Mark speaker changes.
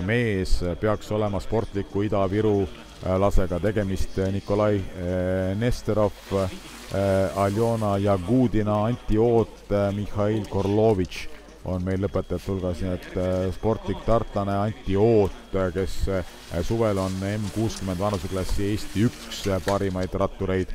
Speaker 1: mees peaks olema sportliku Ida-Viru lasega tegemist Nikolai Nesterov, Aljona Jagudina, Anti Oot, Mihhail Korlovitš on meil lõpetajate hulgas, nii et sportlik tartlane Anti Oot, kes suvel on M60 vanuseklassi Eesti üks parimaid rattureid